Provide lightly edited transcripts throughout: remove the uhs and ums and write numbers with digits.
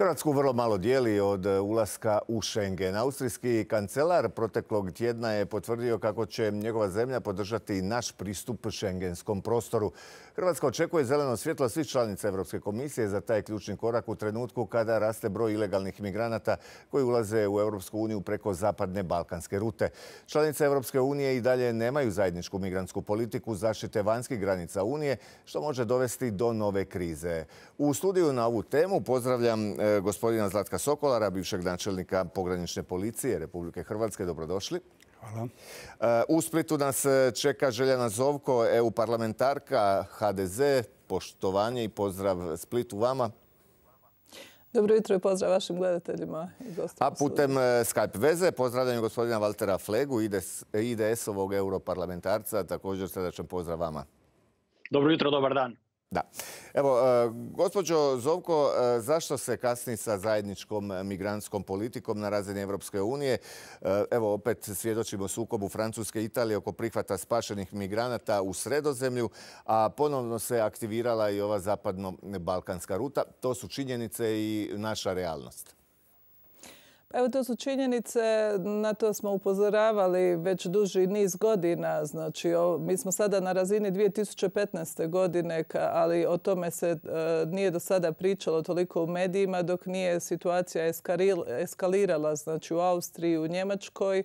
Hrvatsku vrlo malo dijeli od ulaska u Schengen. Austrijski kancelar proteklog tjedna je potvrdio kako će njegova zemlja podržati naš pristup šengenskom prostoru. Hrvatska očekuje zeleno svjetlo svih članica Europske komisije za taj ključni korak u trenutku kada raste broj ilegalnih migranata koji ulaze u Europsku uniju preko zapadne balkanske rute. Članice Europske unije i dalje nemaju zajedničku migrantsku politiku zaštite vanjskih granica Unije, što može dovesti do nove krize. U studiju na ovu temu pozdravljam gospodina Zlatka Sokolara, bivšeg načelnika pogranične policije Republike Hrvatske. Dobrodošli. Hvala. U Splitu nas čeka Željana Zovko, EU parlamentarka, HDZ. Poštovanje i pozdrav Splitu vama. Dobro jutro i pozdrav vašim gledateljima i gostima. A putem Skype veze pozdravljam gospodina Valtera Flegu, IDS-ovog europarlamentarca. Također srdačan pozdrav vama. Dobro jutro, dobar dan. Da. Evo, gospođo Zovko, zašto se kasni sa zajedničkom migrantskom politikom na razini Europske unije? Evo, opet svjedočimo sukobu Francuske i Italije oko prihvata spašenih migranata u Sredozemlju, a ponovno se aktivirala i ova zapadno-balkanska ruta. To su činjenice i naša realnost. Evo, to su činjenice, na to smo upozoravali već duži niz godina. Znači, mi smo sada na razini 2015. godine, ali o tome se nije do sada pričalo toliko u medijima dok nije situacija eskalirala, znači u Austriji, u Njemačkoj.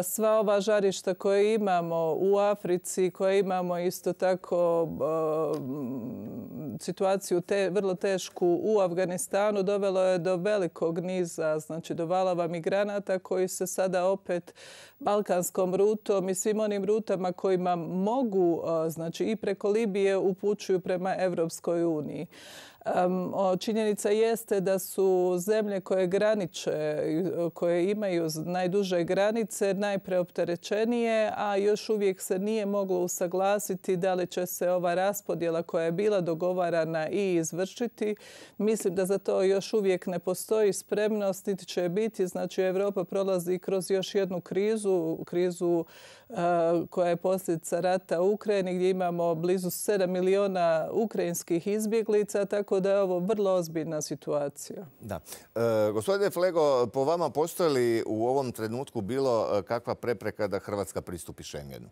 Sva ova žarišta koje imamo u Africi, koje imamo isto tako situaciju vrlo tešku u Afganistanu, dovelo je do velikog niza, znači do valova migranata koji se sada opet balkanskom rutom i svim onim rutama kojima mogu, znači i preko Libije upućuju prema Europskoj uniji. Činjenica jeste da su zemlje koje graniče, koje imaju najduže granice, najpreopterećenije, a još uvijek se nije moglo usaglasiti da li će se ova raspodjela koja je bila dogovarana i izvršiti. Mislim da za to još uvijek ne postoji spremnost, niti će biti. Znači, Europa prolazi kroz još jednu krizu koja je posljedica rata u Ukrajini, gdje imamo blizu 7 miliona ukrajinskih izbjeglica, tako da je ovo vrlo ozbiljna situacija. Da. Gospodine Flego, po vama postoji li u ovom trenutku bilo kakva prepreka da Hrvatska pristupi Schengenu?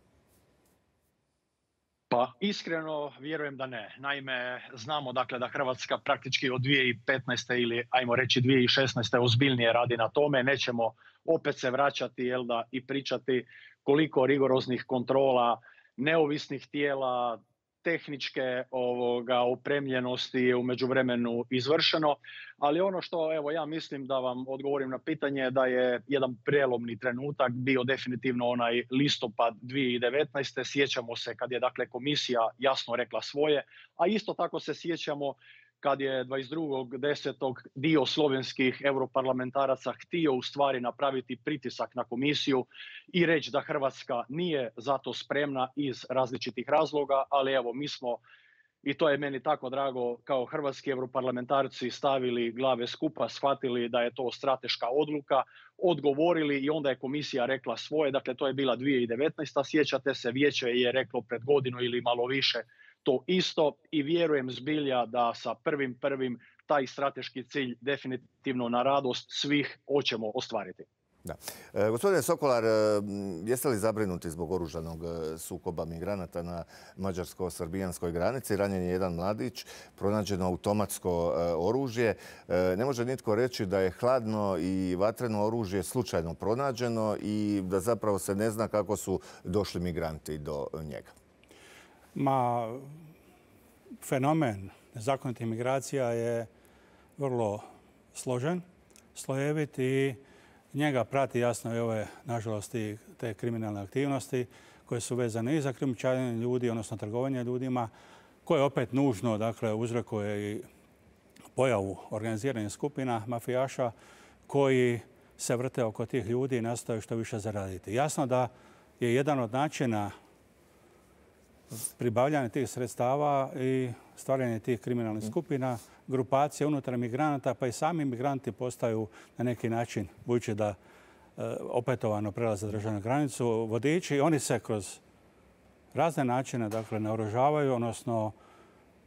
Pa iskreno vjerujem da ne. Naime, znamo dakle da Hrvatska praktički od 2015. ili ajmo reći 2016. ozbiljnije radi na tome. Nećemo opet se vraćati i pričati koliko rigoroznih kontrola, neovisnih tijela, tehničke opremljenosti je u međuvremenu izvršeno. Ali ono što ja mislim da vam odgovorim na pitanje da je jedan prijelomni trenutak bio definitivno onaj listopad 2019. Sjećamo se kad je dakle komisija jasno rekla svoje, a isto tako se sjećamo kad je 22.10. dio slovenskih europarlamentaraca htio u stvari napraviti pritisak na komisiju i reći da Hrvatska nije za to spremna iz različitih razloga, ali evo mi smo, i to je meni tako drago, kao hrvatski europarlamentarci stavili glave skupa, shvatili da je to strateška odluka, odgovorili i onda je komisija rekla svoje. Dakle, to je bila 2019. Sjećate se, vijeće je reklo pred godinu ili malo više to isto i vjerujem zbilja da sa 1.1. taj strateški cilj definitivno na radost svih hoćemo ostvariti. Da. Gospodine Sokolar, jeste li zabrinuti zbog oružanog sukoba migranata na mađarsko-srbijanskoj granici? Ranjen je jedan mladić, pronađeno automatsko oružje. Ne može nitko reći da je hladno i vatreno oružje slučajno pronađeno i da zapravo se ne zna kako su došli migranti do njega. Fenomen nezakonitih migracija je vrlo složen, slojevit i njega prati jasno i ove, nažalost, i te kriminalne aktivnosti koje su vezane i za krijumčarenje ljudi, odnosno trgovanje ljudima, koje opet nužno, dakle, uzrokuje i pojavu organiziranih skupina mafijaša koji se vrte oko tih ljudi i nastoje što više zaraditi. Jasno da je jedan od načina pribavljanje tih sredstava i stvaranje tih kriminalnih skupina, grupacije unutar migranata, pa i sami migranti postaju na neki način, budući da opetovano prelaze državnu granicu, vodiči. Oni se kroz razne načine naoružavaju, odnosno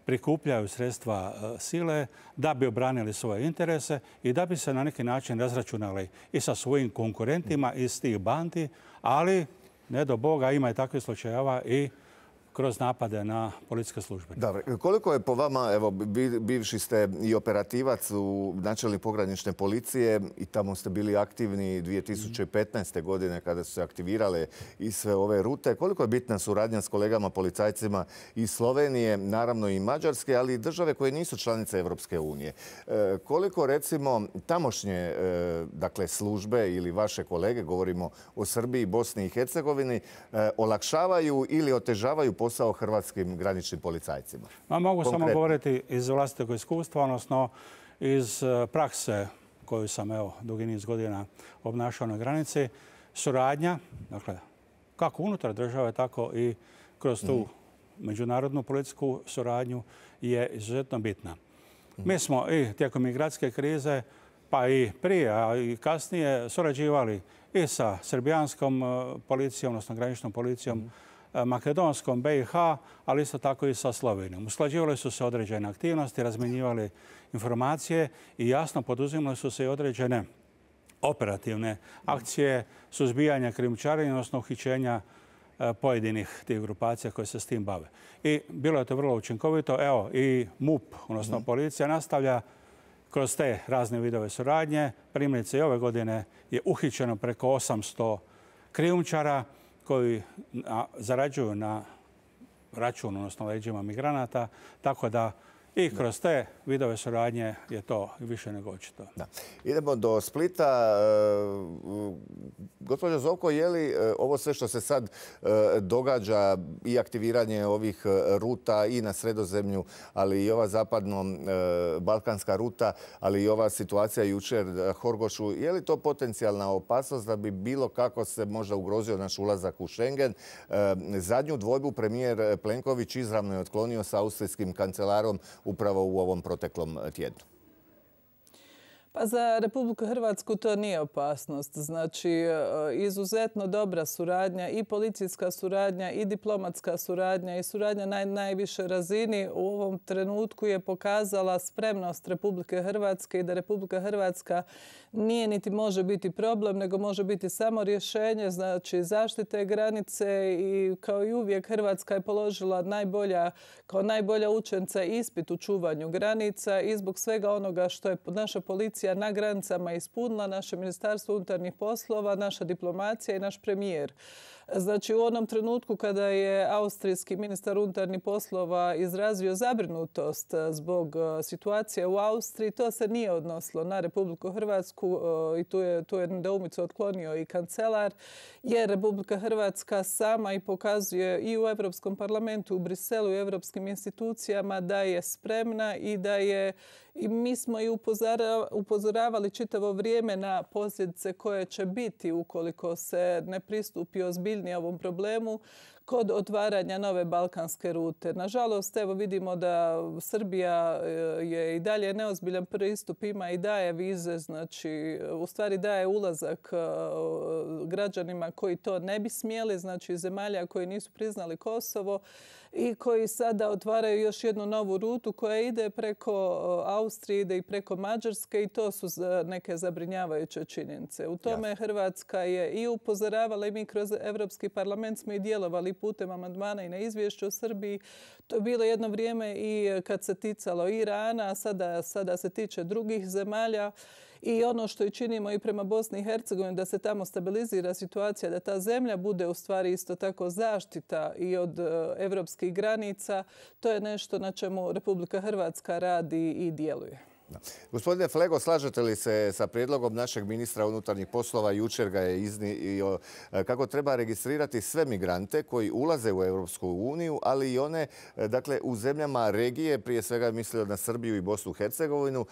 prikupljaju sredstva sile da bi obranili svoje interese i da bi se na neki način razračunali i sa svojim konkurentima iz tih bandi, ali ne do Boga ima i takvih slučajeva i kroz napade na policijske službe. Dobro. Koliko je po vama, evo, bivši ste i operativac u načelnik pogranične policije i tamo ste bili aktivni 2015. godine kada su se aktivirale i sve ove rute. Koliko je bitna suradnja s kolegama policajcima iz Slovenije, naravno i Mađarske, ali i države koje nisu članice Evropske unije? Koliko, recimo, tamošnje dakle, službe ili vaše kolege, govorimo o Srbiji, Bosni i Hercegovini, olakšavaju ili otežavaju posao hrvatskim graničnim policajcima? Mogu samo govoriti iz vlastitog iskustva, odnosno iz prakse koju sam dugi niz godina obnašao na granici. Suradnja, dakle, kako unutar države, tako i kroz tu međunarodnu policijsku suradnju je izuzetno bitna. Mi smo i tijekom migracijske krize, pa i prije, a i kasnije surađivali i sa srbijanskom policijom, odnosno graničnom policijom, makedonskom, BiH, ali isto tako i sa Slovenijom. Usklađivali su se određene aktivnosti, razmjenjivali informacije i jasno poduzimali su se i određene operativne akcije suzbijanja krijumčarenja, odnosno uhićenja pojedinih tih grupacija koje se s tim bave. I bilo je to vrlo učinkovito. Evo, i MUP, odnosno policija, nastavlja kroz te razne vidove suradnje. Primjerice, i ove godine je uhićeno preko 800 krijumčara koji zarađuju na račun, odnosno leđima migranata, tako da i kroz te vidove suradnje je to više nego očito. Idemo do Splita. Gospođo Zovko, je li ovo sve što se sad događa i aktiviranje ovih ruta i na Sredozemlju, ali i ova zapadno-balkanska ruta, ali i ova situacija jučer Horgošu, je li to potencijalna opasnost da bi bilo kako se možda ugrozio naš ulazak u Schengen? Zadnju dvojbu premijer Plenković izravno je otklonio sa austrijskim kancelarom upravo u ovom proteklom tjednu. Pa za Republiku Hrvatsku to nije opasnost. Znači, izuzetno dobra suradnja i policijska suradnja i diplomatska suradnja i suradnja na najvišoj razini u ovom trenutku je pokazala spremnost Republike Hrvatske i da Republika Hrvatska nije niti može biti problem, nego može biti samo rješenje, znači zaštite granice i kao i uvijek Hrvatska je položila kao najbolja učenca ispit u čuvanju granica i zbog svega onoga što je naša policija na granicama ispunila, naše Ministarstvo unutarnjih poslova, naša diplomacija i naš premijer. Znači, u onom trenutku kada je austrijski ministar unutarnjih poslova izrazio zabrinutost zbog situacije u Austriji, to se nije odnosilo na Republiku Hrvatsku i tu je nedoumicu otklonio i kancelar, jer Republika Hrvatska sama i pokazuje i u Europskom parlamentu, u Briselu i europskim institucijama da je spremna i da je i mi smo i upozoravali čitavo vrijeme na posljedice koje će biti ukoliko se ne pristupi ozbiljnije ovom problemu kod otvaranja nove balkanske rute. Nažalost, evo vidimo da Srbija je i dalje neozbiljan pristup, ima i daje vize, znači u stvari daje ulazak građanima koji to ne bi smjeli, znači zemalja koji nisu priznali Kosovo i koji sada otvaraju još jednu novu rutu koja ide preko Austrije, ide i preko Mađarske i to su neke zabrinjavajuće činjenice. U tome Hrvatska je i upozoravala i mi kroz Europski parlament smo i djelovali putem amandmana i na izvješću o Srbiji. To je bilo jedno vrijeme i kad se ticalo Irana, a sada se tiče drugih zemalja. I ono što i činimo i prema Bosni i Hercegovini, da se tamo stabilizira situacija, da ta zemlja bude u stvari isto tako zaštita i od evropskih granica, to je nešto na čemu Republika Hrvatska radi i djeluje. Gospodine Flego, slažete li se sa prijedlogom našeg ministra unutarnjih poslova, jučer ga je iznio, kako treba registrirati sve migrante koji ulaze u Europsku uniju, ali i one dakle, u zemljama regije, prije svega mislio na Srbiju i Bosnu i Hercegovinu,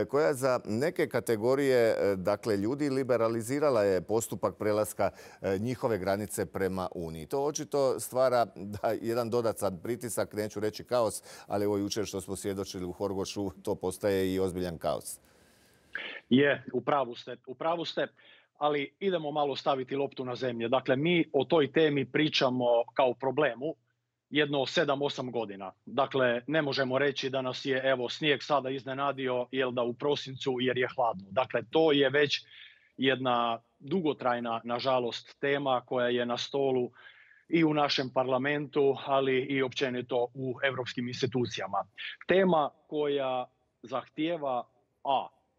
koja za neke kategorije dakle, ljudi liberalizirala je postupak prelaska njihove granice prema Uniji. To očito stvara jedan dodatan pritisak, neću reći kaos, ali evo jučer što smo svjedočili u Horgošu, to postaje i ozbiljan kaos. U pravu ste, ali idemo malo staviti loptu na zemlju. Dakle, mi o toj temi pričamo kao problemu jedno 7-8 godina. Dakle, ne možemo reći da nas je evo snijeg sada iznenadio u prosincu jer je hladno. Dakle, to je već jedna dugotrajna, nažalost, tema koja je na stolu i u našem parlamentu, ali i općenito u europskim institucijama. Tema koja zahtijeva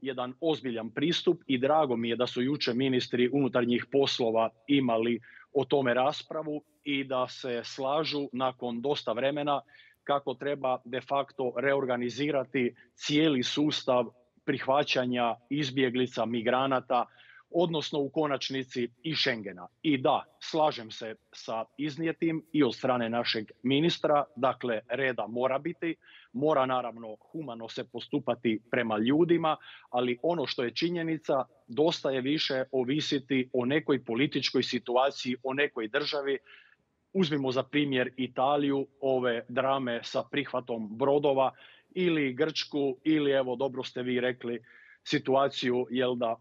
jedan ozbiljan pristup i drago mi je da su jučer ministri unutarnjih poslova imali o tome raspravu i da se slažu nakon dosta vremena kako treba de facto reorganizirati cijeli sustav prihvaćanja izbjeglica, migranata, odnosno u konačnici i Schengena. I da, slažem se sa iznijetim i od strane našeg ministra, dakle reda mora biti, mora naravno humano se postupati prema ljudima, ali ono što je činjenica, dosta je više ovisiti o nekoj političkoj situaciji, o nekoj državi. Uzmimo za primjer Italiju, ove drame sa prihvatom brodova, ili Grčku, ili evo dobro ste vi rekli, situaciju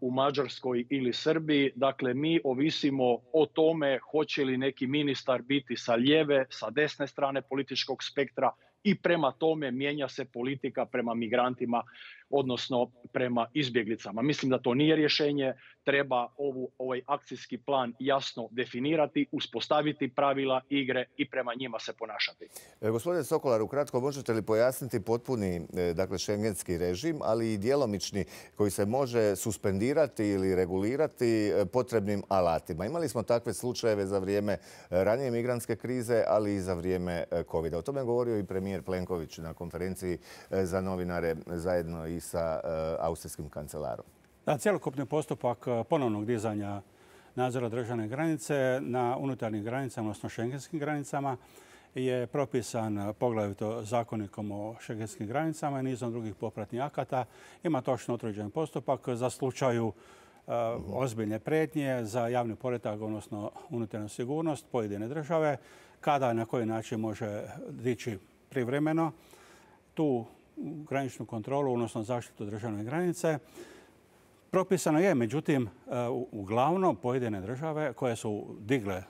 u Mađarskoj ili Srbiji. Dakle, mi ovisimo o tome hoće li neki ministar biti sa lijeve, sa desne strane političkog spektra i prema tome mijenja se politika prema migrantima, odnosno prema izbjeglicama. Mislim da to nije rješenje. Treba ovaj akcijski plan jasno definirati, uspostaviti pravila igre i prema njima se ponašati. Gospodine Sokolar, ukratko možete li pojasniti potpuni šengenski režim, ali i djelomični koji se može suspendirati ili regulirati potrebnim alatima? Imali smo takve slučajeve za vrijeme ranije migrantske krize, ali i za vrijeme COVID-a. O tome je govorio i premijer Plenković na konferenciji za novinare zajedno i sa austrijskim kancelarom. Da, cjelokupni postupak ponovnog dizanja nadzora državne granice na unutarnjim granicama, odnosno šengenskim granicama, je propisan poglavito zakonikom o šengenskim granicama i nizom drugih popratnih akata. Ima točno utvrđen postupak za slučaju ozbiljne prijetnje za javni poredak, odnosno unutarnju sigurnost pojedine države, kada i na koji način može dići privremeno tu graničnu kontrolu, odnosno zaštitu državne granice. Propisano je, međutim, uglavnom pojedine države koje su digle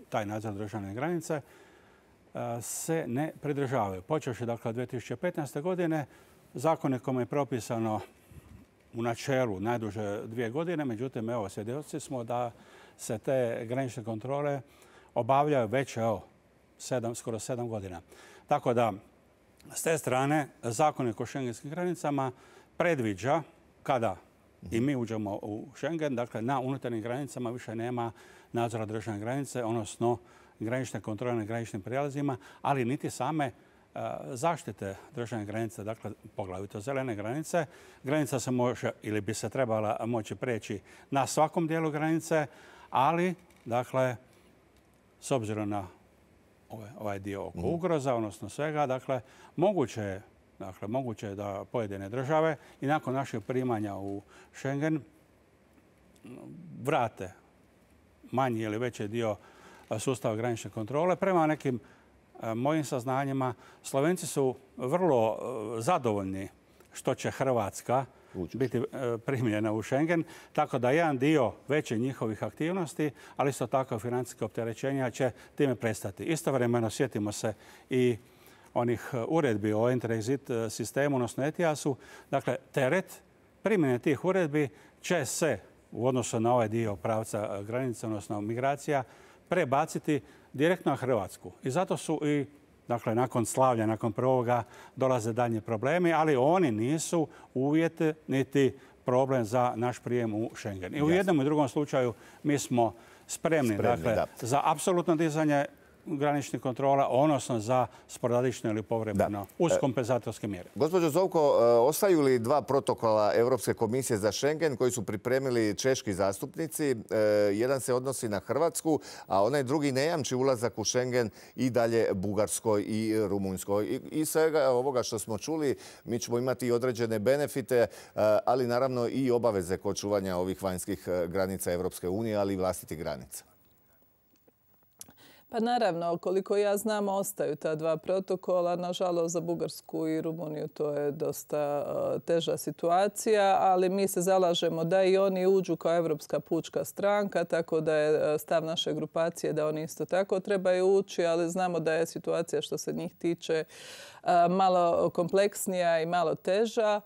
taj nadzor državne granice se ne pridržavaju. Počevši dakle od 2015. godine, zakonikom je propisano u načelu najduže 2 godine, međutim, evo, svjedoci smo da se te granične kontrole obavljaju već skoro 7 godina. Tako da, s te strane, zakonik o šengenskim granicama predviđa kada i mi uđemo u Schengen, dakle na unutarnjim granicama više nema nadzora državne granice, odnosno granične kontrole na graničnim prijelazima, ali niti same zaštite državne granice, dakle poglavito zelene granice. Granica se može ili bi se trebala moći preći na svakom dijelu granice, ali dakle s obzirom na ovaj dio oko ugroza, odnosno svega, dakle moguće je da pojedine države i nakon našeg primanja u Schengen vrate manji ili veći dio sustava granične kontrole. Prema nekim mojim saznanjima, Slovenci su vrlo zadovoljni što će Hrvatska biti primljena u Schengen, tako da jedan dio veće njihovih aktivnosti, ali isto tako financijske opterećenja će time prestati. Istovremeno sjetimo se i onih uredbi o Enter-Exit sistemu, odnosno ETIAS-u. Dakle, teret primjene tih uredbi će se u odnosu na ovaj dio pravca granice, odnosno migracija, prebaciti direktno na Hrvatsku. I zato su i, dakle, nakon slavlja, nakon prvoga, dolaze daljnji problemi, ali oni nisu uvjet niti problem za naš prijem u Schengen. I u jednom i drugom slučaju mi smo spremni za apsolutno dizanje graničnih kontrola, odnosno za sporadično ili povremeno uz kompenzatorske mjere. Gospođo Zovko, ostaju li 2 protokola Europske komisije za Schengen koji su pripremili češki zastupnici? Jedan se odnosi na Hrvatsku, a onaj drugi ne jamči ulazak u Schengen i dalje Bugarskoj i Rumunjskoj. I svega ovoga što smo čuli, mi ćemo imati i određene benefite, ali naravno i obaveze kod čuvanja ovih vanjskih granica Europske unije, ali i vlastitih granica. Pa naravno, koliko ja znam, ostaju ta dva protokola. Nažalost, za Bugarsku i Rumuniju to je dosta teža situacija, ali mi se zalažemo da i oni uđu kao Evropska pučka stranka, tako da je stav naše grupacije da oni isto tako trebaju ući, ali znamo da je situacija što se njih tiče malo kompleksnija i malo teža.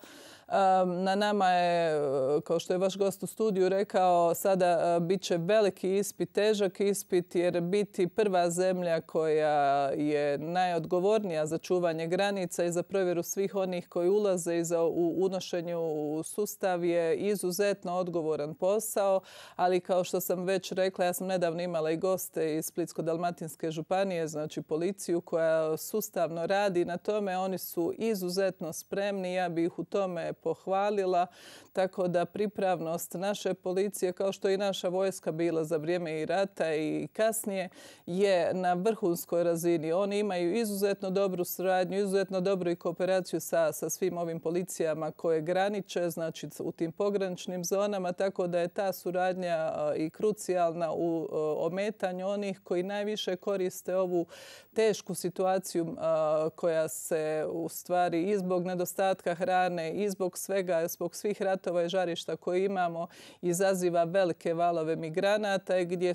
Na nama je, kao što je vaš gost u studiju rekao, sada bit će veliki ispit, težak ispit, jer biti prva zemlja koja je najodgovornija za čuvanje granica i za provjeru svih onih koji ulaze i za unošenju u sustav je izuzetno odgovoran posao, ali kao što sam već rekla, ja sam nedavno imala i goste iz Splitsko-dalmatinske županije, znači policiju koja sustavno radi na tome. Oni su izuzetno spremni, ja bih ih u tome pohvalila, tako da pripravnost naše policije, kao što je i naša vojska bila za vrijeme i rata i kasnije, je na vrhunskoj razini. Oni imaju izuzetno dobru suradnju, izuzetno dobru i kooperaciju sa svim ovim policijama koje graniče, znači u tim pograničnim zonama, tako da je ta suradnja i krucijalna u ometanju onih koji najviše koriste ovu tešku situaciju koja se u stvari i zbog nedostatka hrane i zbog svega, zbog svih ratova i žarišta koje imamo, izaziva velike valove migranata i gdje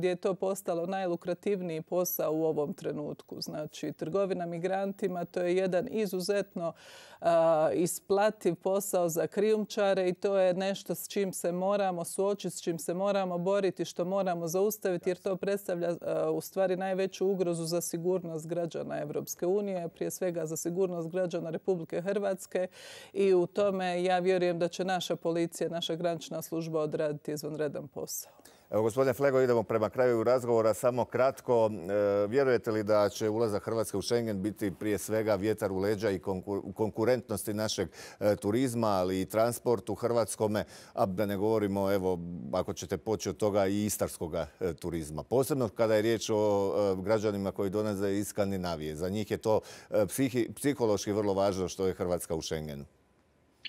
je to postalo najlukrativniji posao u ovom trenutku. Znači, trgovina migrantima, to je jedan izuzetno isplativ posao za krijumčare i to je nešto s čim se moramo suočiti, s čim se moramo boriti, što moramo zaustaviti, jer to predstavlja u stvari najveću ugrozu za sigurnost građana Evropske unije, prije svega za sigurnost građana Republike Hrvatske, i u tome ja vjerujem da će naša policija, naša granična služba odraditi izvanredan posao. Evo, gospodine Flego, idemo prema kraju razgovora. Samo kratko, vjerujete li da će ulazak Hrvatske u Schengen biti prije svega vjetar u leđa i konkurentnosti našeg turizma, ali i transportu hrvatskome, a da ne govorimo, evo, ako ćete poći od toga, i istarskog turizma. Posebno kada je riječ o građanima koji dolaze iz Skandinavije. Za njih je to psihološki vrlo važno što je Hrvatska u Schengenu.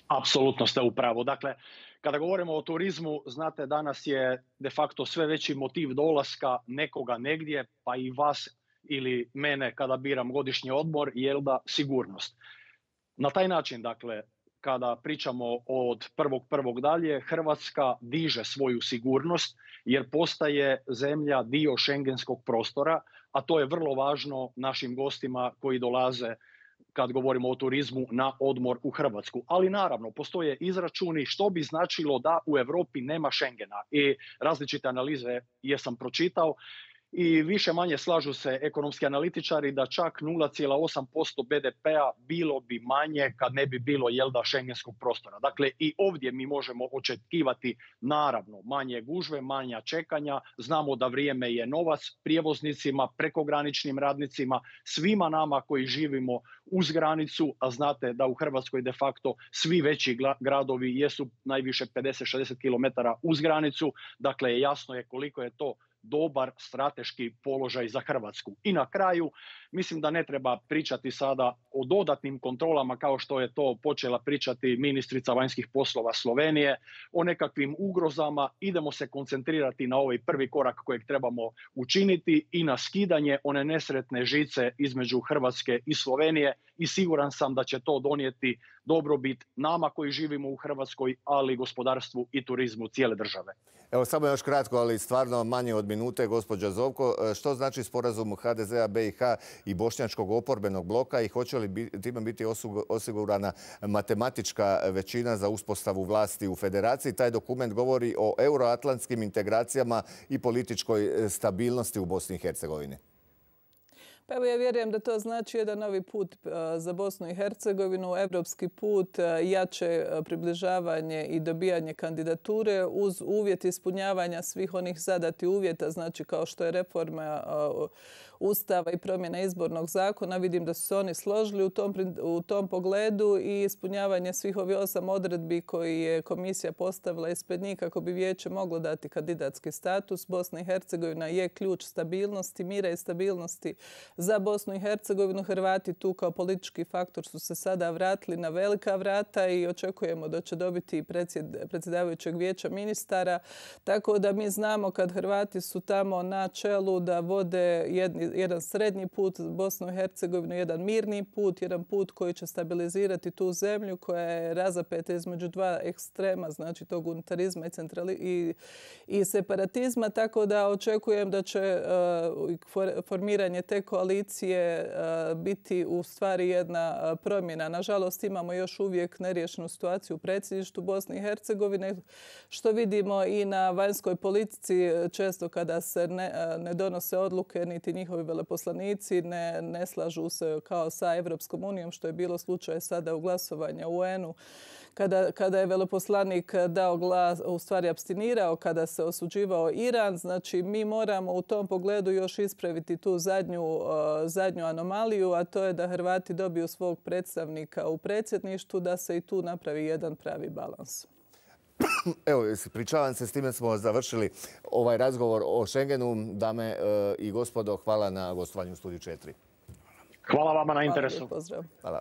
Apsolutno ste u pravu. Dakle, kada govorimo o turizmu, znate, danas je de facto sve veći motiv dolaska nekoga negdje, pa i vas ili mene kada biram godišnji odmor, je da sigurnost. Na taj način, dakle, kada pričamo od 1.1. dalje, Hrvatska diže svoju sigurnost jer postaje zemlja dio šengenskog prostora, a to je vrlo važno našim gostima koji dolaze kad govorimo o turizmu na odmor u Hrvatsku. Ali naravno, postoje izračuni što bi značilo da u Europi nema Schengena. I različite analize jesam pročitao i više manje slažu se ekonomski analitičari da čak 0,8% BDP-a bilo bi manje kad ne bi bilo šengenskog prostora. Dakle, i ovdje mi možemo očekivati naravno manje gužve, manja čekanja. Znamo da vrijeme je novac prijevoznicima, prekograničnim radnicima, svima nama koji živimo uz granicu, a znate da u Hrvatskoj de facto svi veći gradovi jesu najviše 50-60 km uz granicu. Dakle, jasno je koliko je to dobar strateški položaj za Hrvatsku. I na kraju, mislim da ne treba pričati sada o dodatnim kontrolama kao što je to počela pričati ministrica vanjskih poslova Slovenije, o nekakvim ugrozama. Idemo se koncentrirati na ovaj prvi korak kojeg trebamo učiniti i na skidanje one nesretne žice između Hrvatske i Slovenije i siguran sam da će to donijeti dobrobit nama koji živimo u Hrvatskoj, ali i gospodarstvu i turizmu cijele države. Evo, samo još kratko, ali stvarno manje od minute, gospođa Zovko. Što znači sporazum HDZ-a, BiH i bošnjačkog oporbenog bloka i hoće li time biti osigurana matematička većina za uspostavu vlasti u federaciji? Taj dokument govori o euroatlantskim integracijama i političkoj stabilnosti u Bosni i Hercegovini. Pa evo, ja vjerujem da to znači jedan novi put za Bosnu i Hercegovinu, evropski put, jače približavanje i dobijanje kandidature uz uvjet ispunjavanja svih onih zadatih uvjeta, znači kao što je reforma Ustava i promjena izbornog zakona. Vidim da su se oni složili u tom pogledu i ispunjavanje svih ovih 8 odredbi koji je komisija postavila ispred njih kako bi vijeće moglo dati kandidatski status. Bosna i Hercegovina je ključ stabilnosti, mira i stabilnosti za Bosnu i Hercegovinu. Hrvati tu kao politički faktor su se sada vratili na velika vrata i očekujemo da će dobiti predsjedavajućeg vijeća ministara. Tako da mi znamo kad Hrvati su tamo na čelu da vode jedan srednji put Bosnu i Hercegovinu, jedan mirni put, jedan put koji će stabilizirati tu zemlju koja je razapeta između dva ekstrema, znači tog unitarizma i separatizma. Tako da očekujem da će formiranje te koalicije biti u stvari jedna promjena. Nažalost, imamo još uvijek neriješenu situaciju u predsjedništvu Bosne i Hercegovine, što vidimo i na vanjskoj politici. Često kada se ne donose odluke, niti njihovi veleposlanici ne slažu se kao sa Evropskom unijom, što je bilo slučaj sada u glasovanju u UN-u. Kada je veleposlanik dao glas, u stvari apstinirao, kada se osuđivao Iran, znači mi moramo u tom pogledu još ispraviti tu zadnju anomaliju, a to je da Hrvati dobiju svog predstavnika u predsjedništvu, da se i tu napravi jedan pravi balans. Evo, pričavam se, s time smo završili ovaj razgovor o Schengenu. Dame i gospodo, hvala na gostovanju u Studiju 4. Hvala vama na interesu. Pozdrav. Hvala.